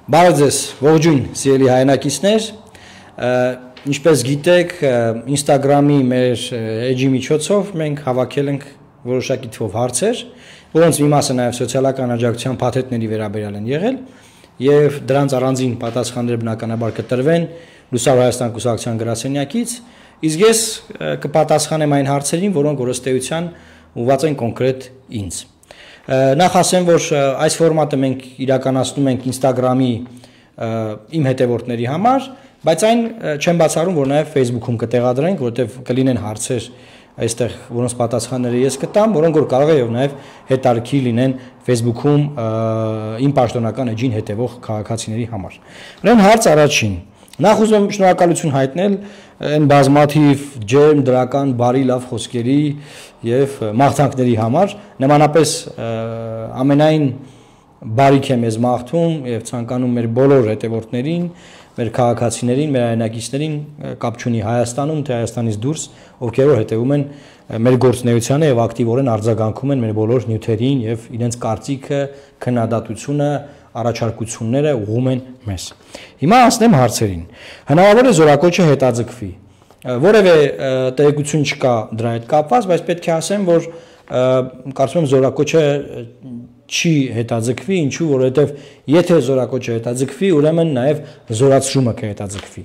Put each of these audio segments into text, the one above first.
Բարև ձեզ, ողջույն, սիրելի հայրենակիցներ, ինչպես գիտեք, Instagram-ի մեր էջի միջոցով մենք հավաքել ենք որոշակի թվով հարցեր, որոնց մի մասը նաև սոցիալական աջակցության փաթեթների վերաբերյալ են եղել, եւ դրանց առանձին պատասխաններ բնականաբար կտրվեն Լուսավոր Հայաստան կուսակցության գրասենյակից, իսկ ես կպատասխանեմ այն հարցերին, որոնք ըստ էության ուղղված են կոնկրետ ինձ։ Նախ ասեմ, որ այս ֆորմատը մենք իրականացնում ենք Instagram-ի իմ հետևորդների համար, բայց այն չեմ բացառում, որ նաև Facebook-ում կտեղադրենք, որովհետև կլինեն հարցեր այստեղ, որոնց պատասխանները ես կտամ, որոնք որ կարող է եւ նաև հետարքի լինեն Facebook-ում իմ պաշտոնական էջին հետևող քաղաքացիների համար։ Ուրեմն հարց առաջին։ Նախ ուզում եմ շնորհակալություն հայտնել այն բազմաթիվ ջերմ դրական բարի լավ խոսքերի եւ մաղթանքների համար, նմանապես ամենայն բարիք եմ ես մաղթում եւ ցանկանում մեր բոլոր հետևորդներին, մեր քաղաքացիներին, մեր հայրենակիցներին, կապ չունի Հայաստանում, թե Հայաստանից դուրս, ովքեր որ հետևում են մեր գործունեությանը եւ ակտիվորեն արձագանքում են մեր բոլոր նյութերին եւ իրենց կարծիքը, քննադատությունը, առաջարկությունները ուղղում են մեզ։ Հիմա ասեմ հարցերին։ Հնարավոր է զորակոչը հետաձգվի։ Որևէ տեղեկություն չկա դրա հետ կապված, բայց պետք է ասեմ, որ կարծում եմ զորակոչը չի հետաձգվի, ինչու, որովհետև եթե զորակոչը հետաձգվի, ուրեմն նաև զորացումը կհետաձգվի։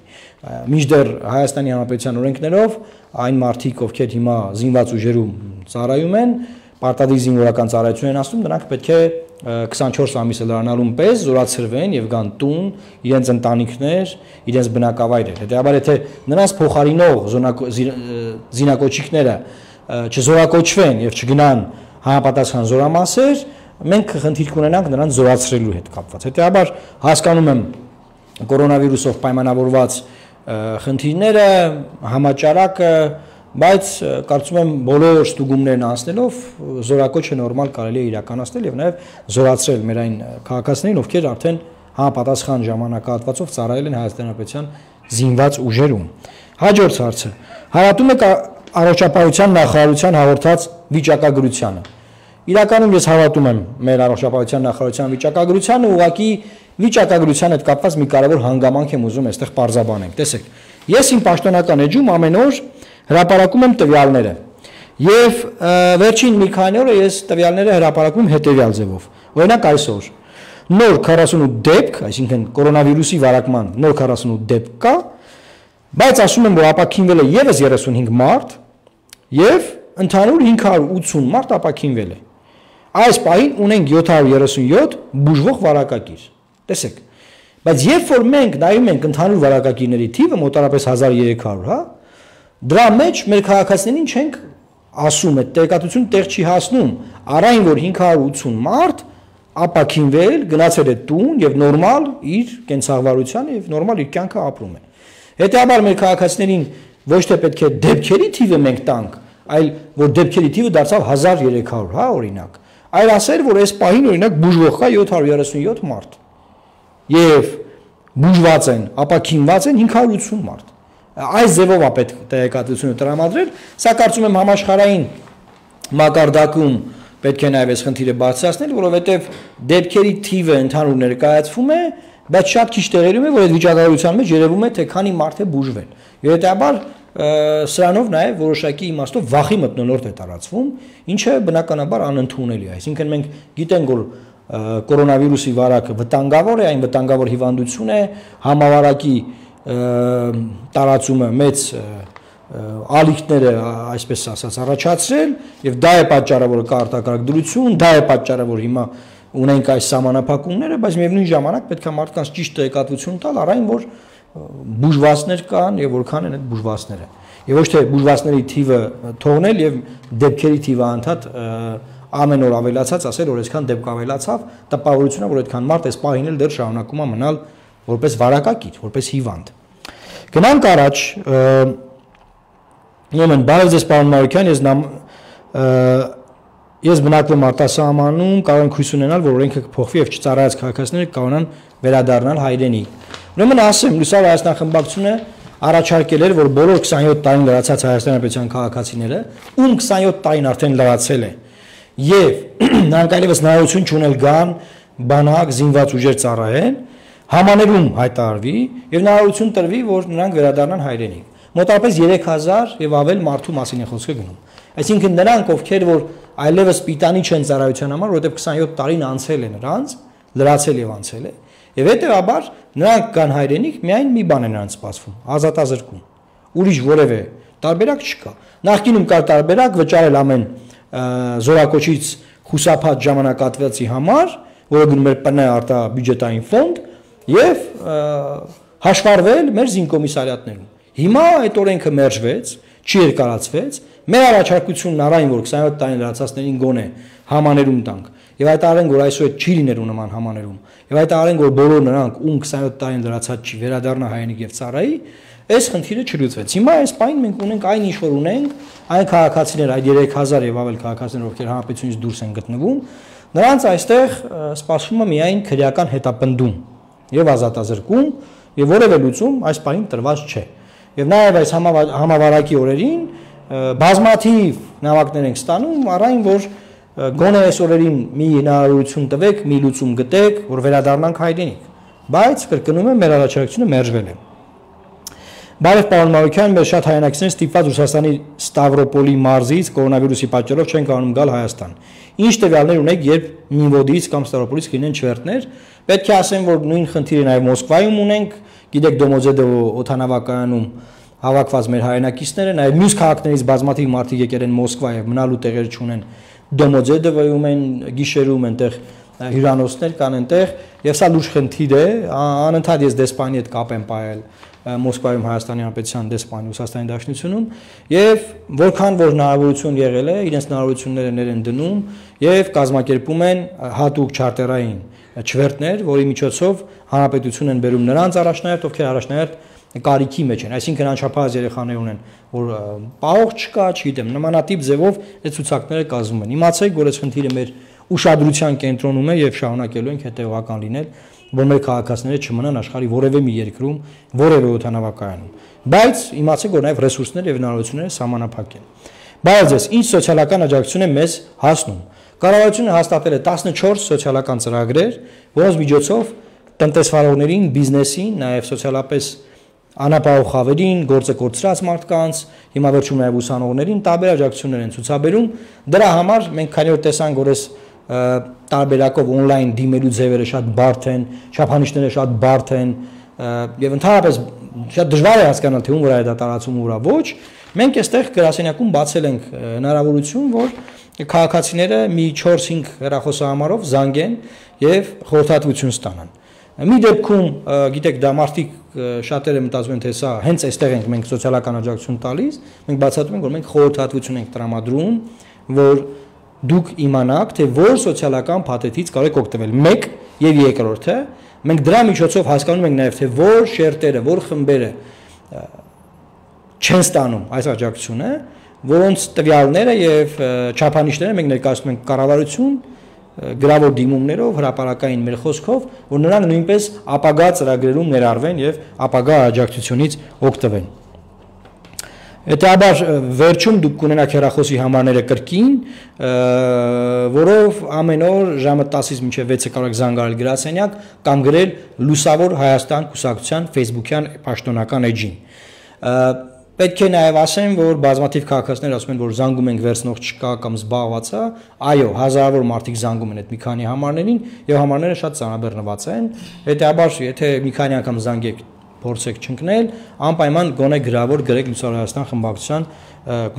Մինչդեռ Հայաստանի Հանրապետության օրենքներով այն մարդիկ, ովքեր հիմա զինված ուժերում ծառայում են, պարտադիր զինվորական ծառայություն են ասում, նրանք պետք է 24 ամիսը լրանալուն պես զորացրվեն եւ գան տուն, իրենց ընտանիքներ, իրենց բնակավայրեր։ Հետեւաբար եթե նրանց փոխարինող զինակոչիկները չզորակոչվեն եւ չգնան համապատասխան զորամասեր, մենք խնդիր կունենանք նրանց զորացրելու հետ կապված։ Հետեւաբար հասկանում եմ կորոնավիրուսով պայմանավորված խնդիրները, համաճարակը, բայց կարծում եմ բոլոր ստուգումներն անցնելով զորակոչը նորմալ կարելի է իրականացնել եւ նաեւ զորացրել մեր այն քաղաքացիներին, ովքեր արդեն համապատասխան ժամանակահատվածով ծառայել են Հայաստանի Հանրապետության զինված ուժերում։ Հաջորդ հարցը. հարատում եք առողջապահության նախարարության հաղորդած վիճակագրությանը։ Իրականում ես հավատում եմ մեր առողջապահության նախարարության վիճակագրությանը, ուղղակի վիճակագրության հետ կապված մի կարևոր հանգամանք եմ ուզում այստեղ պարզաբանեմ։ Տեսեք, ես իմ պաշտոնական էջում ամեն օր հրապարակում եմ տվյալները եւ վերջին մի քանի օրը ես տվյալները հրապարակում եմ հետեւյալ ձևով։ Օրինակ այսօր նոր 48 դեպք, այսինքն կորոնավիրուսի վարակման նոր 48 դեպք կա, բայց ասում եմ, որ ապաքինվել է եւս 35 մարդ եւ ընդհանուր 580 մարդ ապաքինվել է։ Այս պահին ունենք 737 բուժվող վարակակիր։ Տեսեք, բայց երբ որ մենք նայում ենք ընդհանուր վարակակիրների թիվը մոտավորապես 1300, հա, դրա մեջ մեր քաղաքացիներին չենք ասում, այդ տեղեկատվությունը տեղ չի հասնում, առայն որ 580 մարդ ապաքինվել, գնացել է տուն եւ նորմալ իր կենցաղվարությանը եւ նորմալ իր կյանքը ապրում է։ Հետեւաբար մեր քաղաքացիներին ոչ թե պետք է դեպքերի թիվը մենք տանք, այլ որ դեպքերի թիվը դարձավ 1300, հա, օրինակ, այլ ասել, որ այս պահին օրինակ բուժվող կա 737 մարդ եւ բուժված են, ապաքինված են 580 մարդ։ Այս ձևով է պետք տեղեկատվությունը տրամադրել, սա կարծում եմ համաշխարհային մակարդակում պետք է նաև այս խնդիրը բարձրացնել, որովհետև դեպքերի թիվը ընդհանուր ներկայացվում է, բայց շատ քիչ տեղերում է, որ այդ վիճակագրության մեջ երևում է, թե քանի մարդ է բուժվել։ Եվ հետեւաբար սրանով նաև որոշակի իմաստով վախի մթնոլորտ է տարածվում, ինչը բնականաբար անընդունելի է։ Այսինքն մենք գիտենք, որ կորոնավիրուսի վարակը վտանգավոր է, այն վտանգավոր հիվանդություն է, համավարակի տարածումը մեծ ալիքները, այսպես ասած, առաջացրել եւ դա է պատճառը, որ կա արտակարգ դրություն, դա է պատճառը, որ հիմա ունենք այս սահմանափակումները, բայց միևնույն ժամանակ պետք է մարդկանց ճիշտ տեղեկատվություն տալ, առայն որ բուժվածներ կան եւ որքան են այդ բուժվածները։ Եվ ոչ թե բուժվածների թիվը թողնել եւ դեպքերի թիվը անդադ ամեն օր ավելացած, ասել, որ այսքան դեպք ավելացավ, տպավորությունն է, որ այդքան մարդ այս պահին էլ դեռ շարունակում է մնալ որպես վարակակիր, որպես հիվանդ։ Գնանք առաջ, ուրեմն բարև ձեզ պարոն Մարուկյան, ես բնակվում արտասահմանում, կարող եմ հույս ունենալ, որ օրենքը կփոխվի եւ չծառայած քաղաքացիները կարողանան վերադառնալ հայրենիք։ Ուրեմն ասեմ, Լուսավոր Հայաստան խմբակցությունը առաջարկել էր, որ բոլոր 27 տարին լրացած Հայաստանի Հանրապետության քաղաքացիները, ում 27 տարին արդեն լրացել է, եւ նրանք այլևս հնարավորություն չունել գան բանակ զինված ուժեր ծառայեն, Համաներում հայտարարվի եւ հնարավորություն տրվի, որ նրանք վերադառնան հայրենիք։ Մոտավորապես 3000 եւ ավել մարդու մասին է խոսքը գնում։ Այսինքն նրանք, ովքեր որ այլևս պիտանի չեն ծառայության համար, որովհետեւ 27 տարին անցել է նրանց, լրացել եւ անցել է, եւ հետեւաբար նրանք կան հայրենիք, միայն մի բան է նրանց սպասվում՝ ազատազրկում։ Ուրիշ որևէ տարբերակ չկա։ Նախկինում կար տարբերակ վճարել ամեն զորակոչից խուսափած ժամանակատվացի համար, որը գնում էր ՊՆ արտաբյուջետային ֆոնդ եւ հաշվառվել մեր զինկոմիսարիատներում։ Հիմա այդ օրենքը մերժվեց, չի երկարացվեց, մեր առաջարկությունն առայն որ 27 տարին լրացածներին գոնե համաներում տանք եւ հայտարարենք որ այսօր չի լինելու նման համաներում եւ հայտարարենք որ բոլոր նրանք ում 27 տարին լրացած չի վերադառնա հայրենիք եւ ծառայի, այս խնդիրը չլուծվեց։ Հիմա այս պայն մենք ունենք այն ինչ որ ունենք, այն քաղաքացիներ, այդ 3000 եւ ավել քաղաքացիներ, ովքեր հանրապետությունից դուրս են գտնվում, նրանց այստեղ սպասվում է միայն քրեական հետապնդում եւ ազատազրկում եւ որևէ լուծում այս պայն տրված չէ։ Եվ նաեւ այս համավարակի օրերին բազմաթիվ նամակներ ենք ստանում, առայն որ գոնե այս օրերին մի հնարավորություն տվեք, մի լուծում գտեք, որ վերադառնանք հայրենիք։ Բայց կրկնում եմ, մեր առաջարկությունը մերժվել է։ Բարև պարոն Մարուկյան, մեր շատ հայրենակիցներ ստիպված Ռուսաստանի Ստավրոպոլի մարզից կորոնավիրուսի պատճառով չեն կարողանում գալ Հայաստան։ Ինչ տվյալներ ունեք, երբ Մինվոդից կամ Ստավրոպոլից կլինեն չվերթներ։ Պետք է ասեմ, որ նույն խնդիրը նաև Մոսկվայում ունենք, գիտեք Դոմոձեդովո օդանավակայանում հավաքված մեր հայրենակիցները, նաև մյուս քաղաքներից բազմաթիվ մարդիկ եկել են Մոսկվա եւ մնալու տեղեր չունեն Դոմոձեդովոյում են, գիշերում այնտեղ հյուրանոցներ կան այնտեղ, եւ սա լուրջ խնդիր է, անընդհատ ես դեսպանի հետ կապ եմ պահել Մոսկվայում Հայաստանի Հանրապետության դեսպանի Ռուսաստանի Դաշնությունում եւ որքան որ հնարավորություն եղել է, իրենց հնարավորությունները ներ են դնում եւ կազմակերպում են հատուկ չարտերային չվերթներ, որի միջոցով հանրապետություն են բերում նրանց առաջնահերթ, ովքեր առաջնահերթ կարիքի մեջ են, այսինքն անչափահաս երեխաներ ունեն, որ պահող չկա, չգիտեմ, նմանատիպ ձևով այդ ցուցակները կազմում են։ Իմացեք, որ այս խնդիրը մեր ուշադրության կենտրոնում է եւ շարունակելու ենք հետեւական լինել, որ մեր քաղաքացիները չմնան աշխարհի որևէ մի երկրում, որևէ օդանավակայանում։ Բայց իմացեք, որ նաեւ ռեսուրսները եւ հնարավորությունները սահմանափակ են։ Բայց ես ինչ սոցիալական աջակցություն է մեզ հասնում։ Կառավարությունը հաստատել է 14 սոցիալական ծրագրեր, որոնց միջոցով տնտեսվարողներին, բիզնեսին, նաեւ սոցիալապես անապահով խավերին, գործը կորցրած մարդկանց, հիմա վերջում նաև ուսանողներին տարբեր աջակցություններ են ցուցաբերում։ Դրա համար մենք քանի որ տեսանք, որ այս տարբերակով on-line դիմելու ձևերը շատ բարդ են, չափանիշները շատ բարդ են եւ ընդհանրապես շատ դժվար է հասկանալ թե ում վրա է դա տարածում ու վրա ոչ, մենք այստեղ գրասենյակում բացել ենք հնարավորություն, որ քաղաքացիները մի 4-5 հեռախոսահամարով զանգեն եւ խորհրդատվություն ստանան։ Մի դեպքում, գիտեք, դա մարդիկ շատերը մտածում են, թե սա հենց այստեղ ենք մենք սոցիալական աջակցություն տալիս, մենք բացատրում ենք, որ մենք խորհրդատվություն ենք տրամադրում, որ դուք իմանաք, թե որ սոցիալական փաթեթից կարող եք օգտվել։ Մեկ եւ երկրորդը, մենք դրա միջոցով հասկանում ենք նաեւ, թե որ շերտերը, որ խմբերը չեն ստանում այս աջակցությունը, որոնց տվյալները եւ չափանիշները մենք ներկայացնում ենք կառավարություն գրավոր դիմումներով, հրապարակային մեր խոսքով, որ նրանք նույնպես ապագա ծրագրերում ներառվեն եւ ապագա աջակցությունից օգտվեն։ Հետաբար վերջում դուք կունենաք հեռախոսի համարները կրկին, որով ամեն օր ժամը 10-ից մինչև 6-ը կարող եք զանգարել գրասենյակ կամ գրել Լուսավոր Հայաստան կուսակցության Facebook-յան պաշտոնական էջին։ Պետք է նաև ասեմ, որ բազմաթիվ քաղաքացիներ ասում են, որ զանգում ենք վերցնող չկա կամ զբաղված է, այո, հազարավոր մարդիկ զանգում են այդ մի քանի համարներին եւ համարները շատ ծանրաբեռնված են։ Հետեւաբար, եթե մի քանի անգամ զանգեք, փորձեք չընկնել, անպայման գոնե գրավոր գրեք Լուսավոր Հայաստան խմբակցության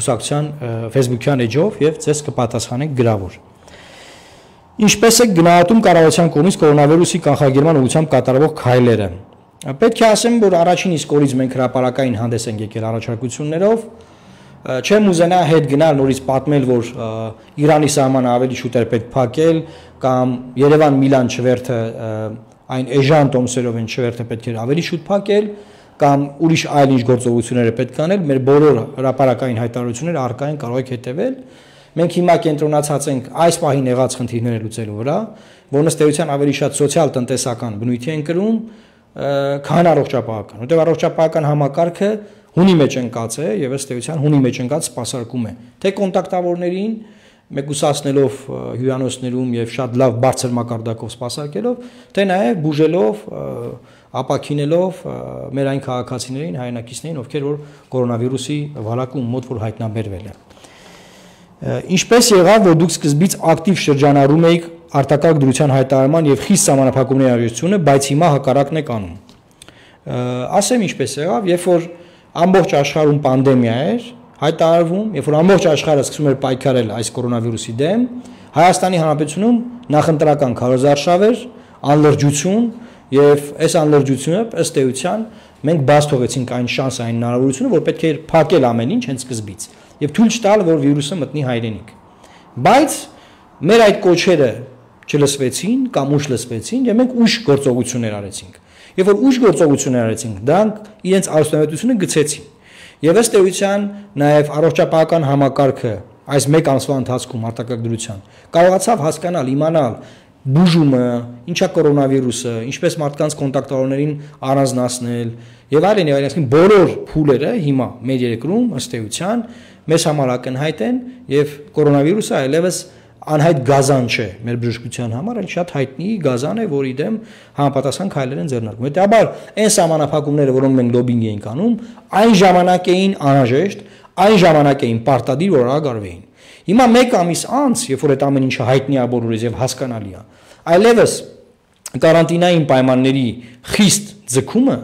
կուսակցության Facebook-յան էջով եւ ձեզ կպատասխանենք գրավոր։ Ինչպես է գնահատում կառավարության կողմից կորոնավիրուսի կանխարգելման ուղղությամբ կատարվող քայլերը։ Պետք է ասեմ, որ առաջին իսկ օրից մենք հրապարակային հանդես ենք եկել առաջարկություններով, չեմ ուզենա հետ գնալ նորից պատմել, որ Իրանի սահմանը ավելի շուտ էր պետք փակել կամ Երևան-Միլան չվերթը այն էժան տոմսերով են չվերթը պետք էր ավելի շուտ փակել կամ ուրիշ այլ ինչ գործողություններ է պետք անել, մեր բոլոր հրապարակային հայտարարությունները առկա են, կարող եք հետևել։ Մենք հիմա կենտրոնացած ենք այս պահին եղած խնդիրները լուծելու վրա, որոնց ըստ ավելի շատ սոցիալ-տնտեսական բնույթի են կրում, քան առողջապահական, որտեղ առողջապահական համակարգը հունի մեջ ընկած է եւ ըստ էության հունի մեջ ընկած սպասարկում է թե կոնտակտավորներին մեկուսացնելով հյուրանոցներում եւ շատ լավ բարձր մակարդակով սպասարկելով, թե նաեւ բուժելով, ապակինելով մեր այն քաղաքացիներին, հայրենակիցներին, ովքեր որ կորոնավիրուսի վարակում մոտ որ հայտնաբերվել են։ Ինչպես եղավ, որ դուք սկզբից ակտիվ շրջանառում եք արտակարգ դրության հայտարարման եւ խիստ սահմանափակումների արարությունը, բայց հիմա հակառակն եք անում։ Ասեմ ինչպես եղավ, երբ որ ամբողջ աշխարհում պանդեմիա էր, հայտարարվում, երբ որ ամբողջ աշխարհը սկսում էր պայքարել այս կորոնավիրուսի դեմ, Հայաստանի Հանրապետությունում նախընտրական քարոզարշավ էր, անլրջություն եւ այս անլրջությունը ըստ էության մենք բաց թողեցինք այն շանսը, այն հնարավորությունը, որ պետք է փակել ամեն ինչ հենց սկզբից եւ թույլ չտալ, որ վիրուսը մտնի հայրենիք։ Բայց մեր այդ կոչերը չլսվեցին կամ ուշ լսվեցին եւ մենք ուշ գործողություններ արեցինք։ Երբ որ ուշ գործողություններ արեցինք, դրանք իրենց արդյունավետությունը գցեցին։ Եվ ըստ էության նաև առողջապահական համակարգը այս 1 ամսվա ընթացքում արտակարգ դրության կարողացավ հասկանալ, իմանալ բուժումը, ինչա կորոնավիրուսը, ինչպես մարդկանց կոնտակտավորներին առանձնացնել եւ այլն, այսինքն բոլոր փուլերը հիմա մեր երկրում ըստ էության մեզ համար ակնհայտ են եւ կորոնավիրուսը այլևս անհայտ գազան չէ մեր բժշկության համար, այլ շատ հայտնի գազան է, որի դեմ համապատասխան քայլեր են ձեռնարկվում։ Հետաբար այն սահմանափակումները, որոնք մենք լոբինգ էինք անում, այն ժամանակ էին անհրաժեշտ, այն ժամանակ էին պարտադիր, որ արագ-արվեին։ Հիմա 1 ամիս անց, երբ որ այդ ամեն ինչը հայտնի է բոլորիս եւ հասկանալի է, այլևս կարանտինային պայմանների խիստ ձգումը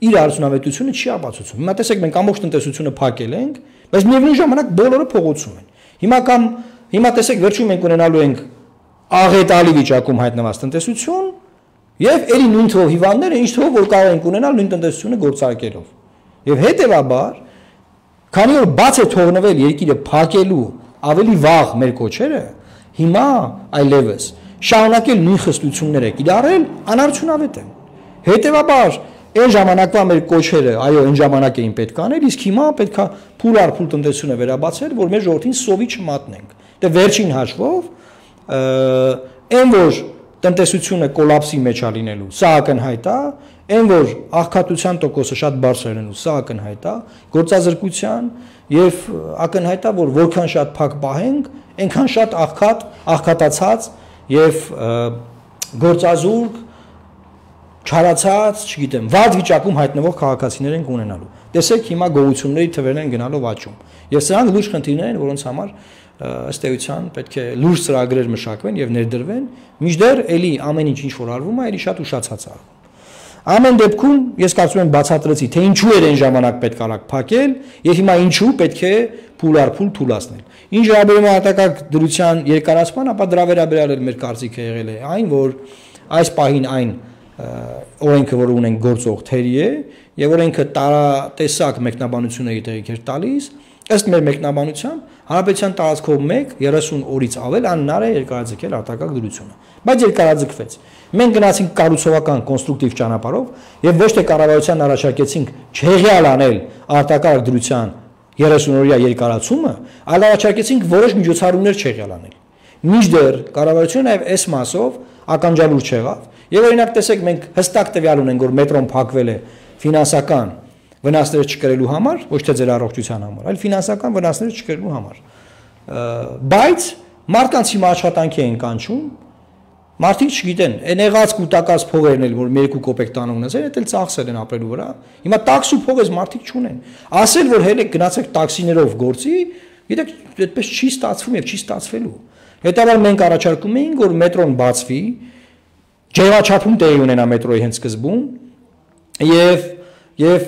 իր արդյունավետությունը չի ապացուցում։ Հիմա տեսեք, մենք ամբողջ տնտեսությունը փակել ենք, բայց միևնույն ժամանակ բոլորը փողոցում են։ Հիմա տեսեք, վերջում մենք ունենալու ենք աղետալի վիճակում հայտնված տնտեսություն եւ ելի նույն թվով հիվանդները, ինչ թվով որ կարող ենք ունենալ նույն տնտեսությունը գործարկելով։ Եվ հետեւաբար, քանի որ բաց է թողնվել երկիրը փակելու ավելի վաղ մեր կոչերը, հիմա այլևս շարունակել նույն խստությունները կիրառել անարդյունավետ է։ Հետեւաբար այն ժամանակվա մեր կոչերը, այո, այն ժամանակ էին պետք անել, իսկ հիմա պետքա փուլ առ փուլ տնտեսությունը վերաբացել, որ մեր ժողովրդին սովի չմատնենք։ Դե վերջին հաշվով այն որ տնտեսությունը կոլապսի մեջ է լինելու, սա ակնհայտ է, այն որ աղքատության տոկոսը շատ բարձր է լինելու, սա ակնհայտ է, գործազրկության եւ ակնհայտ է, որ որքան շատ փակ պահենք, այնքան շատ աղքատացած եւ գործազուրկ չարացած, չգիտեմ, վատ վիճակում հայտնվող քաղաքացիներ են ունենալու։ Տեսեք, հիմա գողությունների թվերն են գնալով աճում։ Եվ սրանք լուրջ խնդիրներ են, որոնց համար ըստ էության պետք է լուրջ ծրագրեր մշակվեն եւ ներդրվեն, մինչդեռ էլի ամեն ինչ որ արվում է, էլի շատ ուշացած արվում։ Ամեն դեպքում ես կարծում եմ բացատրեցի, թե ինչու էր այն ժամանակ պետք արագ փակել եւ հիմա ինչու պետք է փուլ առ փուլ թուլացնել։ Ինչ վերաբերում է արտակարգ դրության երկարացման, ապա դրա վերաբերյալ մեր կարծիքը եղել է այն, որ այս պահին այն օրենքը, որ ունենք գործող թերի է եւ օրենքը տարատեսակ մեկնաբանությունների տեղիք էր տալիս, ըստ մեր մեկնաբանության Հանրապետության տարածքով 30 օրից ավել անհնար է երկարաձգել արտակարգ դրությունը, բայց երկարաձգվեց։ Մենք գնացինք կառուցողական կոնստրուկտիվ ճանապարհով եւ ոչ թե կառավարության առաջարկեցինք չհեղյալ անել արտակարգ դրության 30-օրյա երկարացումը, այլ առաջարկեցինք որոշ միջոցառումներ չհեղյալ անել։ Մինչդեռ կառավարությունը նաեւ այս մասով ականջալուր չեղավ եւ օրինակ տեսեք մենք հստակ տվյալ ունենք, որ մետրոն փակվել է ֆինանսական վնասները չկրելու համար, ոչ թե ձեր առողջության համար, այլ ֆինանսական վնասները չկրելու համար։ Բայց մարդկանց հիմա աշխատանքի են կանչում, մարդիկ չգիտեն, այն եղած կուտակած փողերն էլ, որ 2 կոպեկ տան ունեցել, դա էլ ծախսել են ապրելու վրա։ Հիմա տաքսու փողես մարդիկ չունեն։ Ասել, որ հենց գնացեք տաքսիներով գործի, գիտեք, այդպես չի ստացվում եւ չի ստացվելու։ Հետաբար մենք առաջարկում էինք, որ մետրոն բացվի, ջերմաչափում տեղի ունենա մետրոյի հենց սկզբում եւ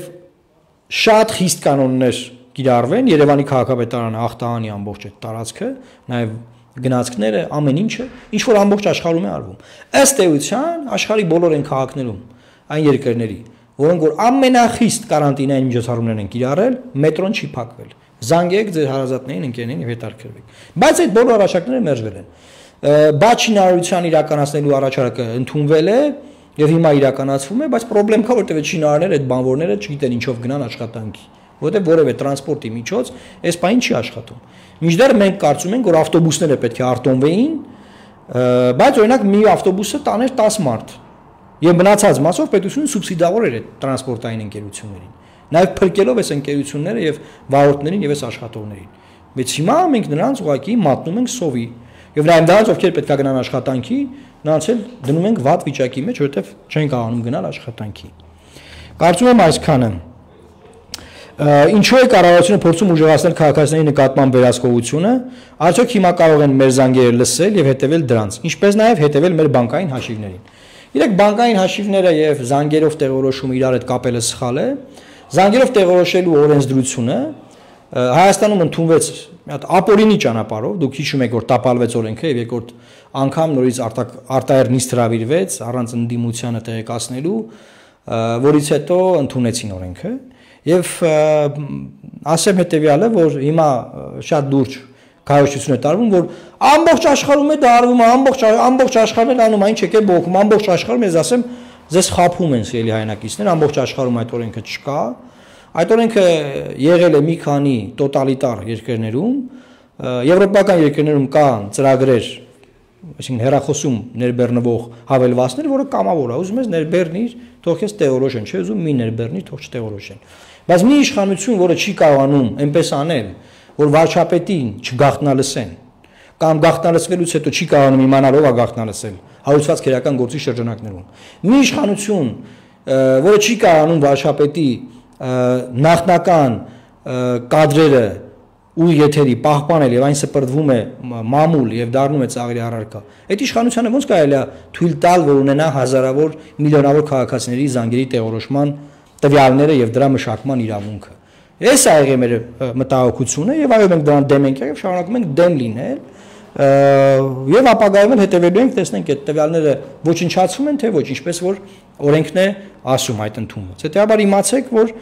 շատ խիստ կանոններ կիրառվեն, Երևանի քաղաքապետարանը ախտահանի ամբողջ այդ տարածքը, նաև գնացքները, ամեն ինչը, ինչ որ ամբողջ աշխարհում է արվում։ Ըստ էության աշխարհի բոլոր այն քաղաքներում, այն երկրների, որոնք որ ամենախիստ կարանտինային միջոցառումներ են կիրառել, մետրոն չի փակվել։ Զանգեք ձեր հարազատներին, ընկերներին եւ հետաքրքրվեք։ Բայց այդ բոլոր առաջարկները մերժվել են։ Բաց շինարարության իրականացնելու առաջարկը ընդունվել է եւ հիմա իրականացվում է, բայց խնդրեմ կա, որտեղ շինարարները, այդ բանվորները չգիտեն ինչով գնան աշխատանքի, որտեղ որևէ տրանսպորտի միջոց այս բանը չի աշխատում։ Մինչդեռ մենք կարծում ենք, որ ավտոբուսները պետք է արտոնվեին, բայց օրինակ մի ավտոբուսը տաներ 10 մարդ եւ մնացած մասով պետությունը սուբսիդավոր էր այդ տրանսպորտային ընկերություններին, նաեւ փրկելով այս ընկերությունները եւ վարորդներին եւ այս աշխատողներին։ Բայց հիմա մենք նրանց ուղղակի մատնում ենք սովի։ Եվ նաև նրանց, ովքեր պետք է գնան աշխատանքի, նրանց էլ դնում ենք վատ վիճակի մեջ, որովհետև չեն կարողանում գնալ աշխատանքի։ Կարծում եմ այսքանը։ Ինչու է կառավարությունը փորձում ուժեղացնել քաղաքացիների նկատմամբ վերահսկողությունը, արդյոք հիմա կարող են մեր զանգերը լսել եւ հետեւել դրանց, ինչպես նաեւ հետեւել մեր բանկային հաշիվներին։ Իրեք բանկային հաշիվները եւ զանգերով տեղորոշումը իրար հետ կապելը սխալ է։ Զանգերով տեղորոշելու օրենսդրությունը Հայաստանում ընդունվեց մի հատ ապօրինի ճանապարհով, դուք հիշում եք, որ տապալվեց օրենքը եւ երկրորդ անգամ նորից արտահայտ նիստ հրավիրվեց առանց ընդդիմությանը տեղեկացնելու, որից հետո ընդունեցին օրենքը եւ ասեմ հետեւյալը, որ հիմա շատ լուրջ քարոզություն է տարվում, որ ամբողջ աշխարհում է դա արվում, ամբողջ աշխարհն է անում, այն չեք է բողոքում, ամբողջ աշխարհում ես ասեմ, ձեզ խափում են սիրելի հայրենակիցներ, ամբողջ աշխարհում այդ օրենքը չկա։ Այդ օրենքը եղել է մի քանի տոտալիտար երկրներում, եվրոպական երկրներում կան ծրագրեր, այսինքն հեռախոսում ներբեռնվող հավելվածներ, որը կամավոր է, ուզում ես ներբեռնիր, թող քեզ տեղորոշեն, չէ՞ ուզում մի ներբեռնի, թող չտեղորոշեն։ Բայց մի իշխանություն, որը չի կարողանում այնպես անել, որ վարչապետին չգաղտնալսեն, կամ գաղտնալսվելուց հետո չի կարողանում իմանալ ով է գաղտնալսել, հարուցված քերական գործի շրջանակներում։ Մի իշխանություն, որը չի կարողանում վարչապետի նախնական կադրերը ու եթերի պահպանել եւ այն սպրդվում է մամուլ եւ դառնում է ծաղրի առարկա։ Այդ իշխանությանը ոնց կարելի է թույլ տալ, որ ունենա հազարավոր, միլիոնավոր քաղաքացիների զանգերի տեղորոշման տվյալները եւ դրա մշակման իրավունքը։ Այս է եղել մեր մտահոգությունը եւ այո մենք դրան դեմ ենք եւ շարունակում ենք դեմ լինել եւ ապագայում էլ հետեւելու ենք, տեսնենք այդ տվյալները ոչնչացվում են թե ոչ, ինչպես որ օրենքն է ասում այդ ընդունված։ Հետեւաբար իմացեք, որ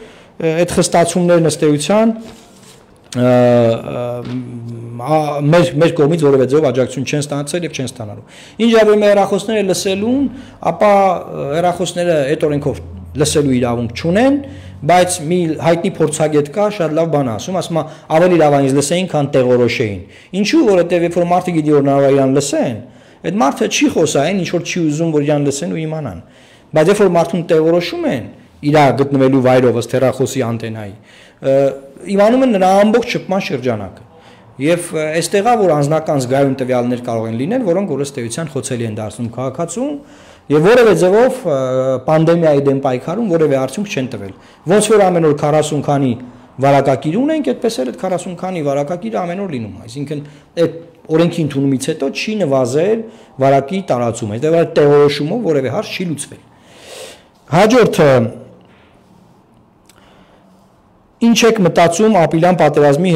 այդ խստացումներն ըստ էության մեր կողմից որևէ ձև աջակցություն չեն ստացել եւ չեն ստանալու։ Ինչ արվում է հեռախոսները լսելուն, ապա հեռախոսները այդ օրենքով լսելու իրավունք չունեն, բայց մի հայտնի փորձագետ կա, շատ լավ բան ասում, ասում է ավելի լավ այնպես լսեին, քան տեղորոշեին։ Ինչու, որովհետեւ երբ որ մարդը գիտի որ նա իրան լսեն, այդ մարդը չի խոսային, ինչ որ չի ուզում որ իրան լսեն ու իմանան։ Բայց երբ որ մարդուն տեղորոշում են իր գտնվելու վայրով ըստ հեռախոսի անտենայի, իմանում են նրա ամբողջ շփման շրջանակը։ Եվ այստեղա որ անձնական զգայուն տվյալներ կարող են լինել, որոնք ըստ էության խոցելի են դարձնում քաղաքացուն եւ որևէ ձևով պանդեմիայի դեմ պայքարում որևէ արդյունք չեն տվել։ Ոնց որ ամեն օր 40 քանի վարակագիր ունենք, այդպես էլ այդ 40 քանի վարակագիրը ամեն օր լինում է։ Այսինքն այդ օրենքի ընդունումից հետո չի նվազել վարակի տարածումը, դա տեղորոշումով որևէ հարց չի լուծվել։ Հաջորդը ինչ եք մտածում ապրիլյան պատերազմի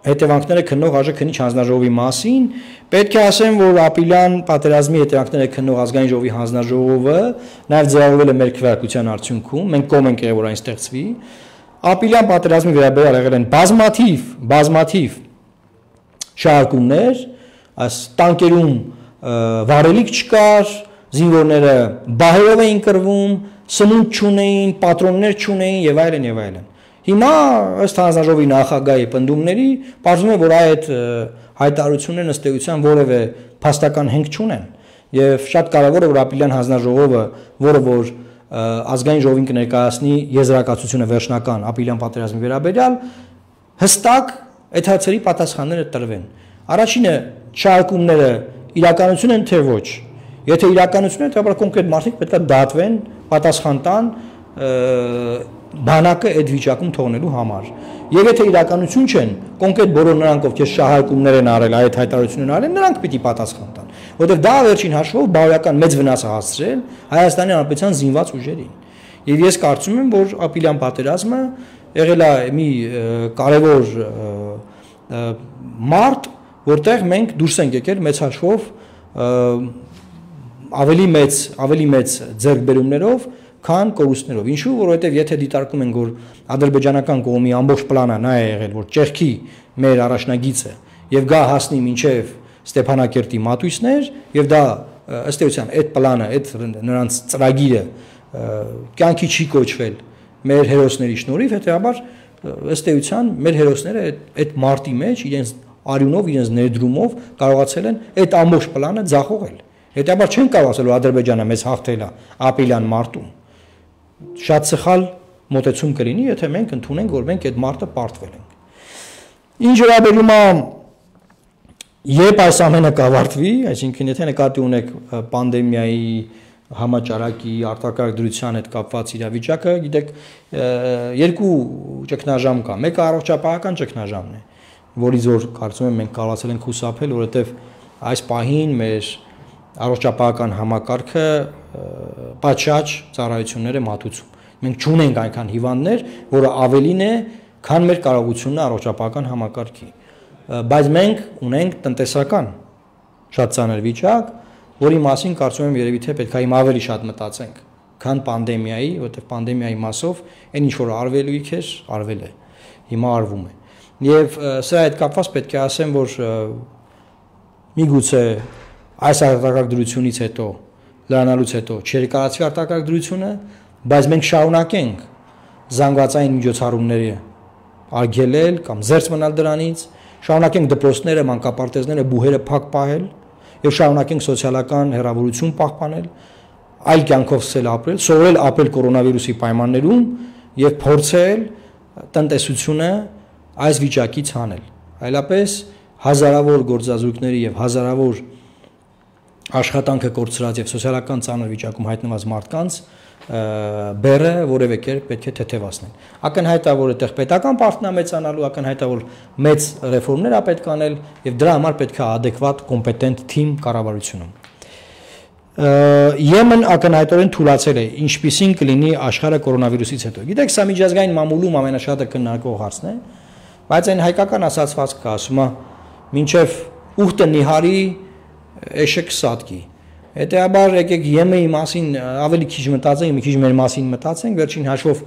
հետևանքները քննող ԱԺ-քննիչ հանձնաժողովի մասին։ Պետք է ասեմ, որ ապրիլյան պատերազմի հետևանքները քննող ազգային ժողովի հանձնաժողովը նաև ձևավորվել է մեր քվեարկության արդյունքում, մենք կողմ ենք եղել, որ այն ստեղծվի։ Ապրիլյան պատերազմի վերաբերյալ եղել են բազմաթիվ շարժումներ, այս տանկերում վարելիք չկար, զինվորները բահերով էին կռվում, սնունդ չունեին, պատրոններ չունեին եւ այլն եւ այլն։ Հիմա ըստ հանձնաժողովի նախագահի պնդումների պարզվում է, որ այդ հայտարարություններն ըստ էության որևէ փաստական հենք չունեն եւ շատ կարեւոր է որ ապրիլյան հանձնաժողովը, որը որ ազգային ժողովին կներկայացնի եզրակացությունը վերջնական ապրիլյան պատերազմի վերաբերյալ, հստակ այդ հարցերի պատասխանները տրվեն։ Առաջինը շարժումները իրականություն են թե ոչ։ Եթե իրականություն է, ապա կոնկրետ մարդիկ պետք է դատվեն, պատասխան տան բանակը այդ վիճակում թողնելու համար։ Եվ եթե իրականություն չեն, կոնկրետ բոլոր նրանք, ովքեր շահարկումներ են արել, այդ հայտարարություններ արել, նրանք պիտի պատասխան տան։ Որովհետև դա վերջին հաշվով բարոյական մեծ վնաս է հասցրել Հայաստանի Հանրապետության զինված ուժերին։ Եվ ես կարծում եմ, որ ապրիլյան պատերազմը եղել է մի կարևոր մարտ, որտեղ մենք դուրս ենք եկել մեծ հաշվով ավելի մեծ ձեռքբերումներով, քան կորուստներով։ Ինչու, որովհետև եթե դիտարկում ենք, որ ադրբեջանական կողմի ամբողջ պլանը նա է եղել, որ ճեղքի մեր առաջնագիծը եւ գա հասնի մինչեւ Ստեփանակերտի մատույցներ եւ դա ըստ էության այդ պլանը, այդ նրանց ծրագիրը կյանքի չի կոչվել մեր հերոսների շնորհիվ, հետեւաբար ըստ էության մեր հերոսները այդ մարտի մեջ իրենց արյունով, իրենց ներդրումով կարողացել են այդ ամբողջ պլանը ձախողել։ Հետեւաբար չեն կարող ասել, որ Ադրբեջանը մեզ հաղթել է ապրիլյան մարտում։ Շատ սխալ մոտեցում կլինի, եթե մենք ընդունենք, որ մենք այդ մարտը պարտվել ենք։ Ինչ վերաբերում է երբ այս ամենը կավարտվի, այսինքն եթե նկատի ունեք պանդեմիայի համաճարակի արտակարգ դրության հետ կապված իրավիճակը, գիտեք, երկու ճգնաժամ կա։ Մեկը առողջապահական ճգնաժամն է, որից որ կարծում եմ մենք կարողացել ենք խուսափել, որովհետև այս պահին մեր առողջապահական համակարգը պատշաճ ծառայություններ է մատուցում։ Մենք չունենք այնքան հիվանդներ, որը ավելին է, քան մեր կարողությունն է առողջապահական համակարգի։ Բայց մենք ունենք տնտեսական շատ ծանր վիճակ, որի մասին կարծում եմ երևի թե պետք է հիմա ավելի շատ մտածենք, քան պանդեմիայի, որովհետև պանդեմիայի մասով այն ինչ որ արվելույք էր, արվել է, հիմա արվում է։ Եվ սրա հետ կապված պետք է ասեմ, որ միգուցե այս արտակարգ դրությունից հետո, լրանալուց հետո չերկարացվի արտակարգ դրությունը, բայց մենք շարունակենք զանգվածային միջոցառումները արգելել կամ զերծ մնալ դրանից, շարունակենք դպրոցները, մանկապարտեզները, բուհերը փակ պահել եւ շարունակենք սոցիալական հեռավորություն պահպանել, այլ կյանքով սկսել ապրել, սովորել ապրել կորոնավիրուսի պայմաններում եւ փորձել տնտեսությունը այս վիճակից հանել։ Այլապես հազարավոր գործազուրկների եւ հազարավոր աշխատանքը կորցրած եւ սոցիալական ծանր վիճակում հայտնված մարդկանց բերը որևէ կերպ պետք է թեթևացնել։ Ակնհայտ է, որ այդտեղ պետական պարտքն է մեծանալու, ակնհայտ է, որ մեծ ռեֆորմներ է պետք անել եւ դրա համար պետք է adekvat կոմպետենտ թիմ կառավարությունում։ Եմեն ակնհայտորեն թույլատրել է, ինչպիսին կլինի աշխարհը կորոնավիրուսից հետո։ Գիտեք, սա միջազգային մամուլում ամենաշատը քննարկվող հարցն է, բայց այն հայկական ասացվածք կա, ասում է, մինչև ուխտը նիհարի էշեք սատկի։ Հետեւաբար եկեք ԵՄ-ի մասին ավելի քիչ մտածենք, մի քիչ մեր մասին մտածենք, վերջին հաշվով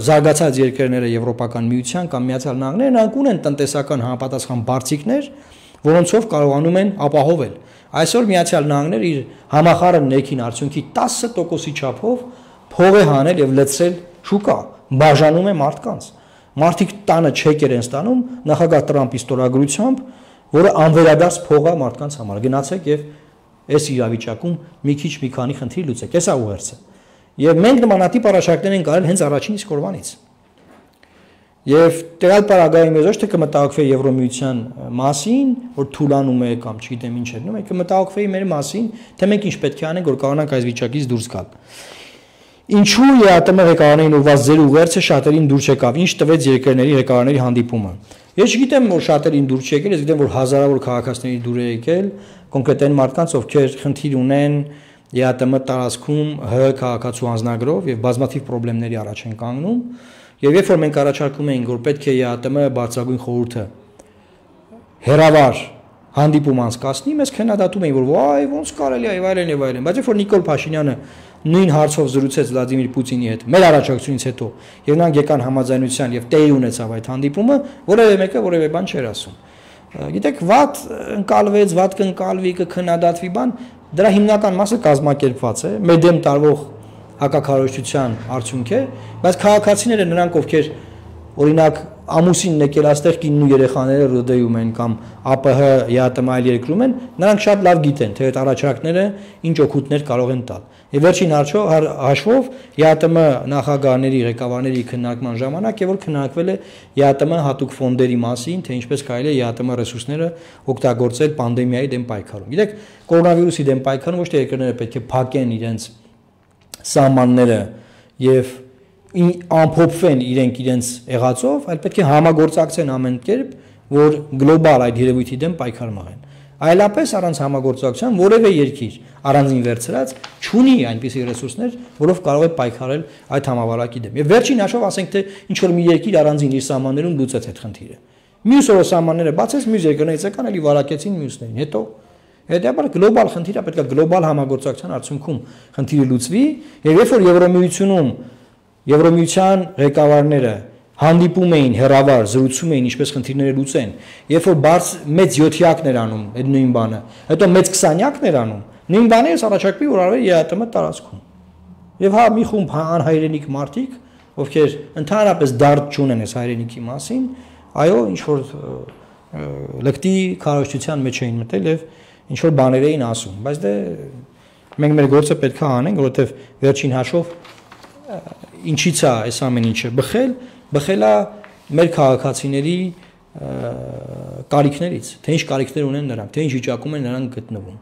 զարգացած երկրները Եվրոպական միության կամ Միացյալ Նահանգները նրանք ունեն տնտեսական համապատասխան բարձիկներ, որոնցով կարողանում են ապահովել։ Այսօր Միացյալ Նահանգները իր համախառն ներքին արդյունքի 10%-ի չափով փող է հանել եւ լցրել շուկա, բաժանում է մարդկանց։ Մարդիկ տանը չեկեր են ստանում նախագահ Տրամպի ստորագրությամբ, որը անվերադարձ փող է մարդկանց համար։ Գնացեք եւ այս իրավիճակում մի քիչ մի քանի խնդիր լուծեք։ Էսա ուղերձը։ Եվ մենք նմանատիպ առաջարկներ ենք արել հենց առաջին իսկ օրվանից։ Եվ տեղալ պարագայի մեզ ոչ թե կմտահոգվի Եվրոմիության մասին, որ թուլանում է կամ չգիտեմ ինչ է, մենք կմտահոգվի մեր մասին, թե մենք ինչ պետք է անենք, որ կարողանանք այս վիճակից դուրս գալ։ Ինչու ԵԱՏՄ ղեկավարներին ուղղված ձեր ուղերձը շատերին դուր չեկավ, ինչ տվեց երկրների ղեկավարների հանդիպումը։ Ես չգիտեմ, որ շատերին դուր չեկել, ես գիտեմ, որ հազարավոր քաղաքացիների դուր է եկել, կոնկրետ այն մարդկանց, ովքեր խնդիր ունեն ԵԱՏՄ տարածքում ՀՀ քաղաքացու անձնագրով եւ բազմաթիվ խնդիրների առաջ են կանգնում, եւ երբ որ մենք առաջարկում էինք, որ պետք է ԵԱՏՄ բարձրագույն խորհուրդը հերավար հանդիպում անցկացնի, մեզ քննադատում էին, որ վայ, ոնց կարելի է եւ այլն, բայց երբ որ Նիկոլ Փաշինյանը նույն հարցով զրուցեց Վլադիմիր Պուտինի հետ մեր առաջարկությունից հետո եւ նրանք եկան համաձայնության եւ տեղի ունեցավ այդ հանդիպումը, որևէ մեկը որևէ բան չէր ասում։ Գիտեք, վատ ընկալվեց, վատ կընկալվի, կքննադատվի բան, դրա հիմնական մասը կազմակերպված է, մեր դեմ տարվող հակակարողության արդյունք է, բայց քաղաքացիները նրանք ովքեր օրինակ ամուսինն եկել այստեղ կինն ու երեխաները ռոդեում են կամ ԱՊՀ ԵԱՏՄ այլ երկրում են, նրանք շատ լավ գիտեն, թե այդ առաջարկները ինչ օգուտներ կարող են տալ։ Եվ վերջին հաշվով ԵԱՏՄ նախագահների, ղեկավարների քննարկման ժամանակ է որ քննարկվել է ԵԱՏՄ հատուկ ֆոնդերի մասին, թե ինչպես կարելի է ԵԱՏՄ ռեսուրսները օգտագործել պանդեմիայի դեմ պայքարում։ Գիտեք, կորոնավիրուսի դեմ պայքարում ոչ թե երկրները պետք է փակեն իրենց սահմանները եւ ամփոփվեն իրենց եղածով, այլ պետք է համագործակցեն ամեն կերպ, որ գլոբալ այդ երևույթի դեմ պայքար մղեն։ Այլապես առանց համագործակցության որևէ երկիր առանձին վերցրած չունի այնպիսի ռեսուրսներ, որով կարող է պայքարել այդ համավարակի դեմ։ Եվ վերջին հաշվով ասենք թե ինչ որ մի երկիր առանձին իր սահմաններում լուծեց այդ խնդիրը։ Մյուս օրը սահմանները բացեց, մյուս երկրներից եկան, էլի վարակեցին մյուսներին։ Հետո գլոբալ խնդիրը պետք է գլոբալ համագործակցության արդյունքում խնդիրը լուծվի, եւ երբ որ Եվրոմիության ղեկավարները հանդիպում էին հերավար, զրուցում էին ինչպես խնդիրները լուծեն, երբ որ մեծ 7-յակներ անում այդ նույն բանը, հետո մեծ 20-յակներ անում, նույն բանը ես առաջարկվի որ արվի ԵԱՏՄ տարածքում։ Եվ հա մի խումբ անհայրենիք մարդիկ, ովքեր ընդհանրապես դարձ չունեն այս հայրենիքի մասին, այո, ինչ որ լկտի քարոշչության մեջ էին մտել եւ ինչ որ բաներ էին ասում, բայց դե մենք մեր գործը պետք է անենք, որովհետեւ վերջին հաշվով ինչից է այս ամեն ինչը բխելա մեր քաղաքացիների կարիքներից, թե ինչ կարիքներ ունեն նրանք, թե ինչ վիճակում են նրանք գտնվում։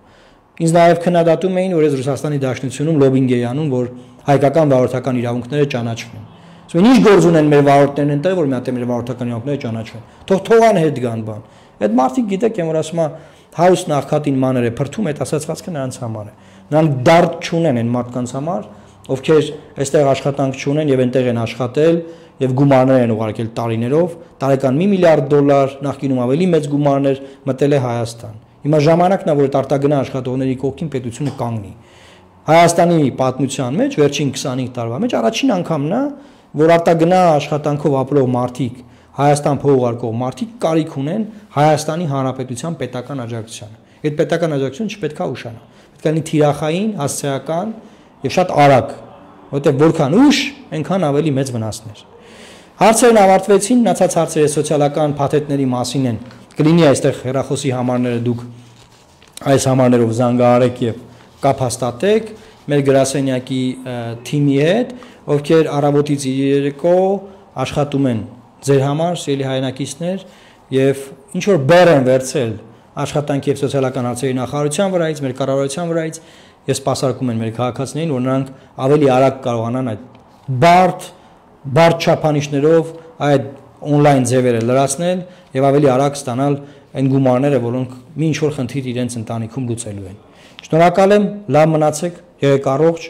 Ինձ նաև քննադատում էին, որ ես Ռուսաստանի Դաշնությունում լոբինգ էի անում, որ հայկական վարորդական իրավունքները ճանաչվեն։ Ասում են, ինչ գործ ունեն մեր վարորդներն այնտեղ, որ մի հատ մեր վարորդական իրավունքները ճանաչվեն։ Թողան հետ գան բան։ Այդ մարդիկ գիտեք, եմ որ ասում եմ, house նախքատին մաներ է փրթում, այդ ասացվածքը նրանց համար է։ Նրանք դարդ չունեն այն մարդկանց համար, ովքեր այստեղ աշխատանք չունեն եւ այնտեղ են աշխատել եւ գումարներ են ուղարկել տարիներով, տարեկան $1 միլիարդ, նախկինում ավելի մեծ գումարներ մտել է Հայաստան։ Հիմա ժամանակն է, որ այդ արտագնա աշխատողների կողքին պետությունը կանգնի։ Հայաստանի պատմության մեջ վերջին 25 տարվա մեջ առաջին անգամն է, որ արտագնա աշխատանքով ապրող մարդիկ, Հայաստան փոխուղարկող մարդիկ կարիք ունեն Հայաստանի Հանրապետության պետական աջակցությանը։ Այդ պետական աջակցությունը չպետք է ուշանա։ Պետք է լինի թիրախային, հասցեական եւ շատ արագ, որովհետեւ որքան ուշ, այնքան ավելի մեծ վնասներ։ Հարցերն ավարտվեցին, մնացած հարցերը սոցիալական փաթեթների մասին են։ Կլինի այստեղ հեռախոսի համարները դուք այս համարներով զանգահարեք եւ կապ հաստատեք մեր գրասենյակի թիմի հետ, ովքեր առավոտից երեկո աշխատում են ձեր համար, սիրելի հայրենակիցներ, եւ ինչ որ բեռ են վերցել աշխատանքի եւ սոցիալական հարցերի նախարարության վրայից, մեր կառավարության վրայից, եւ սպասարկում են մեր քաղաքացիներին, որ նրանք ավելի արագ կարողանան այդ բարդ չափանիշներով այդ on-line ձևերը լրացնել եւ ավելի արագ ստանալ այն գումարները, որոնք մի ինչ որ խնդիր իրենց ընտանիքում լուծելու են։ Շնորհակալ եմ, լավ մնացեք, եղեք առողջ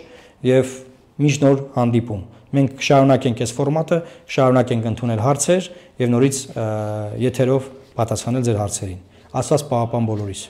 եւ միշտ նոր հանդիպում։ Մենք կշարունակենք այս ֆորմատը, կշարունակենք ընդունել հարցեր եւ նորից եթերով պատասխանել ձեր հարցերին։ Աստված պահապան բոլորիս։